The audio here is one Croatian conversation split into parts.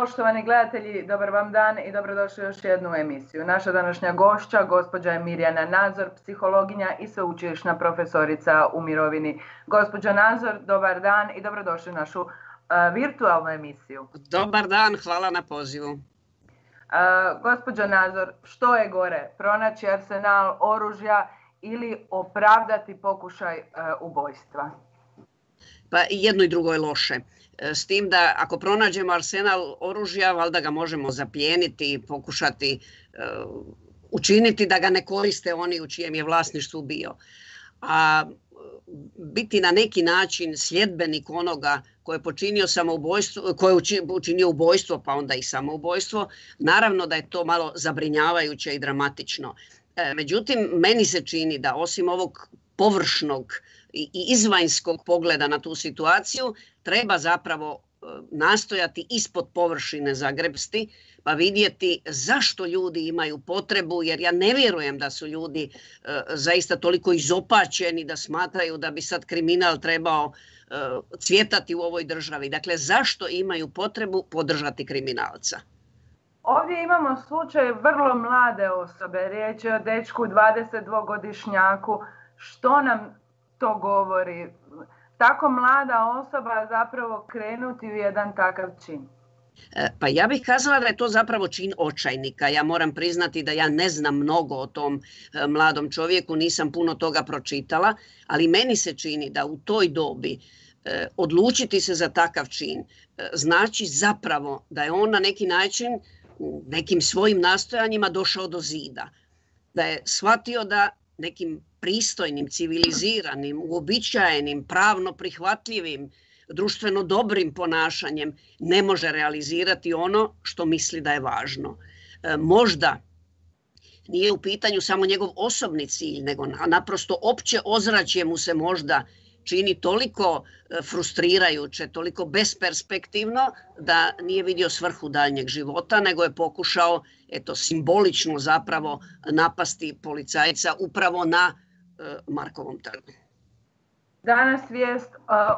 Poštovani gledatelji, dobar vam dan i dobrodošli u još jednu emisiju. Naša današnja gošća, gospođa je Mirjana Nazor, psihologinja i sveučilišna profesorica u mirovini. Gospođo Nazor, dobar dan i dobrodošli u našu virtualnu emisiju. Dobar dan, hvala na pozivu. Gospođo Nazor, što je gore, pronaći arsenal oružja ili opravdati pokušaj ubojstva? Pa jedno i drugo je loše. S tim da ako pronađemo arsenal oružja, valjda ga možemo zaplijeniti i pokušati učiniti da ga ne koriste oni u čijem je vlasništvu bio. A biti na neki način sljedbenik onoga ko je počinio samoubojstvo, ko je učinio ubojstvo pa onda i samoubojstvo, naravno da je to malo zabrinjavajuće i dramatično. Međutim, meni se čini da osim ovog površnog i izvanjskog pogleda na tu situaciju, treba zapravo nastojati ispod površine zagrepsti pa vidjeti zašto ljudi imaju potrebu, jer ja ne vjerujem da su ljudi zaista toliko izopačeni da smatraju da bi sad kriminal trebao cvjetati u ovoj državi. Dakle, zašto imaju potrebu podržati kriminalca? Ovdje imamo slučaj vrlo mlade osobe, riječ je o dečku 22-godišnjaku. Što nam to govori? Tako mlada osoba zapravo krenuti u jedan takav čin? Pa ja bih kazala da je to zapravo čin očajnika. Ja moram priznati da ja ne znam mnogo o tom mladom čovjeku, nisam puno toga pročitala, ali meni se čini da u toj dobi odlučiti se za takav čin znači zapravo da je on na neki način nekim svojim nastojanjima došao do zida. Da je shvatio da nekim pristojnim, civiliziranim, uobičajenim, pravno prihvatljivim, društveno dobrim ponašanjem ne može realizirati ono što misli da je važno. Možda nije u pitanju samo njegov osobni cilj, nego naprosto opće ozračje mu se možda čini toliko frustrirajuće, toliko besperspektivno da nije vidio svrhu daljnjeg života, nego je pokušao simbolično zapravo napasti policajca upravo na Markovom trgu. Danas vijest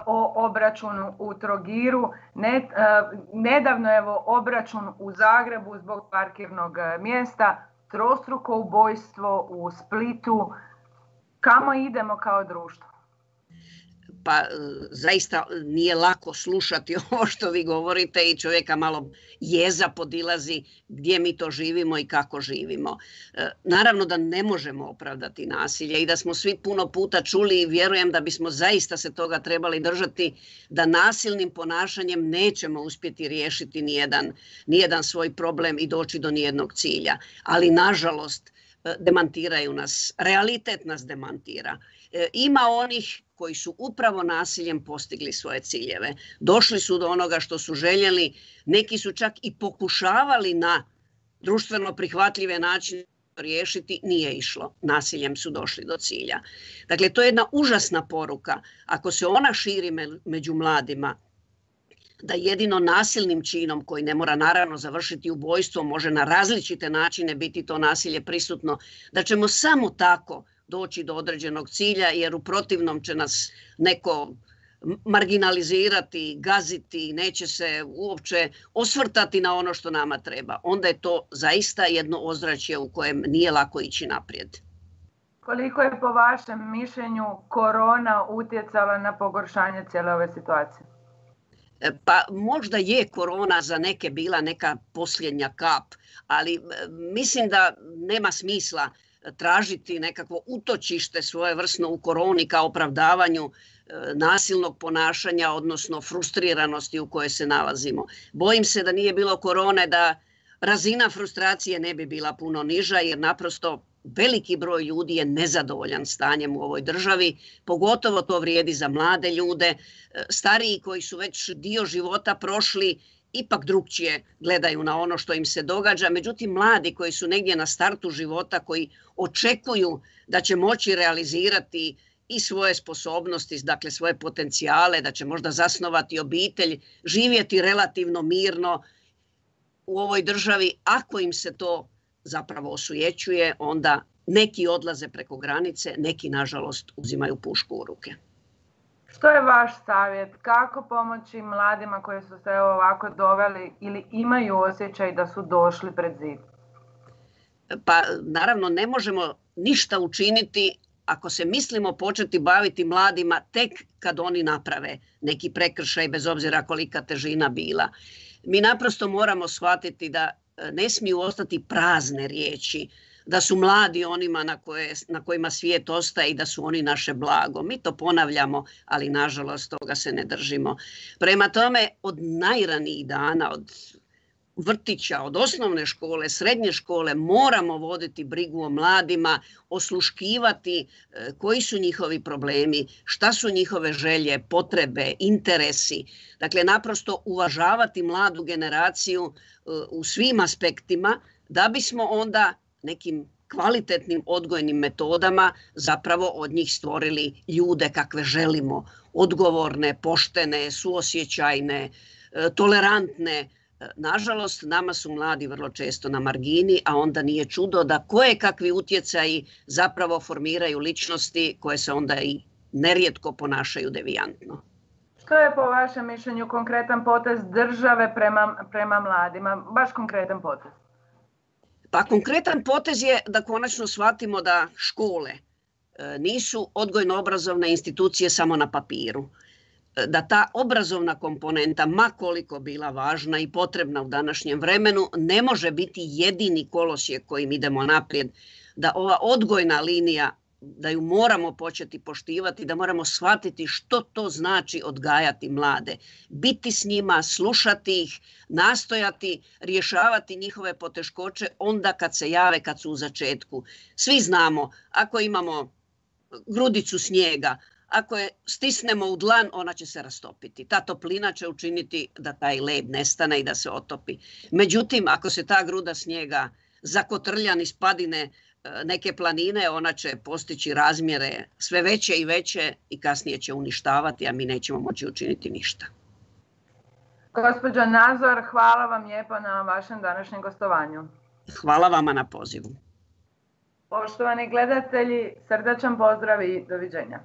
o obračunu u Trogiru. Nedavno je obračun u Zagrebu zbog parkirnog mjesta, trostruko ubojstvo u Splitu. Kamo idemo kao društvo? Pa zaista nije lako slušati ovo što vi govorite i čovjeka malo jeza podilazi gdje mi to živimo i kako živimo. Naravno da ne možemo opravdati nasilje i da smo svi puno puta čuli i vjerujem da bismo zaista se toga trebali držati, da nasilnim ponašanjem nećemo uspjeti riješiti nijedan svoj problem i doći do nijednog cilja. Ali nažalost demantiraju nas, realitet nas demantira. Ima onih koji su upravo nasiljem postigli svoje ciljeve. Došli su do onoga što su željeli, neki su čak i pokušavali na društveno prihvatljive načine riješiti, nije išlo. Nasiljem su došli do cilja. Dakle, to je jedna užasna poruka. Ako se ona širi među mladima, da jedino nasilnim činom, koji ne mora naravno završiti ubojstvom, može na različite načine biti to nasilje prisutno, da ćemo samo tako doći do određenog cilja, jer u protivnom će nas neko marginalizirati, gaziti, neće se uopće osvrtati na ono što nama treba. Onda je to zaista jedno ozračje u kojem nije lako ići naprijed. Koliko je po vašem mišljenju korona utjecala na pogoršanje cijele ove situacije? Pa možda je korona za neke bila neka posljednja kap, ali mislim da nema smisla tražiti nekakvo utočište svojevrsno u koroni kao opravdavanju nasilnog ponašanja, odnosno frustriranosti u kojoj se nalazimo. Bojim se da nije bilo korone, da razina frustracije ne bi bila puno niža, jer naprosto veliki broj ljudi je nezadovoljan stanjem u ovoj državi, pogotovo to vrijedi za mlade ljude, stariji koji su već dio života prošli, ipak drukčije gledaju na ono što im se događa. Međutim, mladi koji su negdje na startu života, koji očekuju da će moći realizirati i svoje sposobnosti, dakle svoje potencijale, da će možda zasnovati obitelj, živjeti relativno mirno u ovoj državi, ako im se to zapravo osujećuje, onda neki odlaze preko granice, neki nažalost uzimaju pušku u ruke. Što je vaš savjet? Kako pomoći mladima koji su se ovako doveli ili imaju osjećaj da su došli pred zid? Pa naravno ne možemo ništa učiniti ako se mislimo početi baviti mladima tek kad oni naprave neki prekršaj, bez obzira kolika težina bila. Mi naprosto moramo shvatiti da ne smiju ostati prazne riječi, da su mladi onima na kojima svijet ostaje i da su oni naše blago. Mi to ponavljamo, ali nažalost toga se ne držimo. Prema tome, od najranijih dana, od vrtića, od osnovne škole, srednje škole, moramo voditi brigu o mladima, osluškivati koji su njihovi problemi, šta su njihove želje, potrebe, interesi. Dakle, naprosto uvažavati mladu generaciju u svim aspektima da bismo onda nekim kvalitetnim odgojnim metodama zapravo od njih stvorili ljude kakve želimo, odgovorne, poštene, suosjećajne, tolerantne. Nažalost, nama su mladi vrlo često na margini, a onda nije čudo da kakvi utjecaji zapravo formiraju ličnosti koje se onda i nerijetko ponašaju devijantno. Što je po vašem mišljenju konkretan potez države prema mladima? Baš konkretan potez. Pa konkretan potez je da konačno shvatimo da škole nisu odgojno-obrazovne institucije samo na papiru. Da ta obrazovna komponenta, ma koliko bila važna i potrebna u današnjem vremenu, ne može biti jedini kolosijek kojim idemo naprijed. Da ova odgojna linija, da ju moramo početi poštivati, da moramo shvatiti što to znači odgajati mlade. Biti s njima, slušati ih, nastojati, rješavati njihove poteškoće onda kad se jave, kad su u začetku. Svi znamo, ako imamo grudicu snijega, ako je stisnemo u dlan, ona će se rastopiti. Ta toplina će učiniti da taj led nestane i da se otopi. Međutim, ako se ta gruda snijega zakotrlja niz padine neke planine, ona će postići razmjere sve veće i veće i kasnije će uništavati, a mi nećemo moći učiniti ništa. Gospođo Nazor, hvala vam lijepo na vašem današnjem gostovanju. Hvala vama na pozivu. Poštovani gledatelji, srdačan pozdrav i doviđenja.